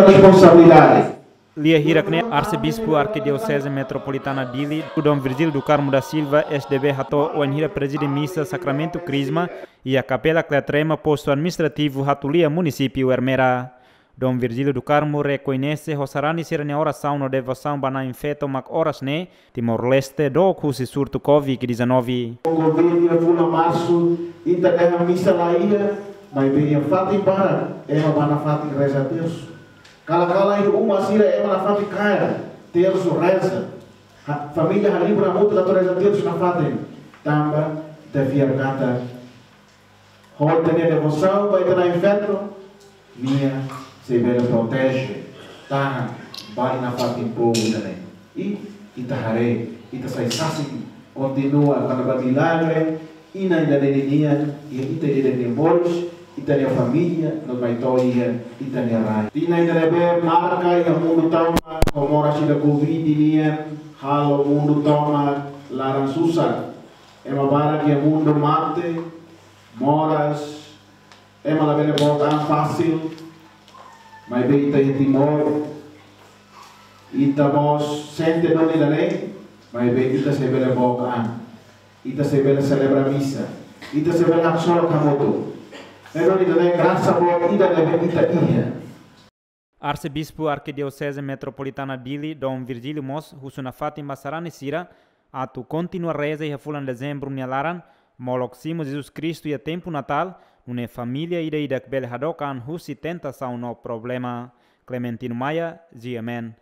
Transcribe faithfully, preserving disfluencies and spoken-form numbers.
responsabilidade. Lia hirak ne'e, Arsebispu Arkidioseze Metropolitana Dili, Dom Virgílio do Carmo da Silva, S D B, hato'o wainhira prezide misa Sakramentu Krisma iha Kapela Kletrema, Postu Administrativu Hatulia, Munisípiu Ermera. Dom Virgílio do Carmo rekoñese ho sarani sira-nia orasaun no devosaun ba Na'i Feto mak oras ne'e Timor-Leste dook husi surtu Covid dezanove. Covid iha fulan Marsu, ita dehan misa la iha, maibé iha fatin barak ema bá nafatin reza tersu. Kala-kala iha uma sira ema nafatin kaer tersu reza. Ha, família halibur hamutuk atu reza tersu nafatin. Tanba ita fiar katak ho ita-nia devosaun ba ita-nia Na'i Feto, nia sei bele proteje, tahan, bali nafatin povu ida-ne'e. I ita haree, ita sai sasin, kontinua, kona-ba milagre inan ida-ne'e nian iha ita ida-idak nia moris, ita-nia família, no mai to'o iha ita-nia rai. Tinan ida ne'ebé marka iha mundu tomak, ho moras ida Covid nian, halo mundu tomak laran susar. Ema barak iha mundu mate, moras, ema labele book an fasil, maibé ita iha Timor, ita mós sente duni ida-ne'e, maibé ita sei bele book an, ita sei bele selebra misa, ita sei bele haksolok hamutuk. Ne'e duni ida-ne'e grasa boot ida ne'ebé ita iha. Arsebispu Arkidioseze Metropolitana Dili, Dom Virgílio mós husu nafatin ba sarani sira atu kontinua reza iha fulan Dezembru nia laran, molok simu Jesus Kristu iha tempu Natál, nune'e família ida-idak bele hadook an husi tentasaun no problema. Clementino Maia, G M N.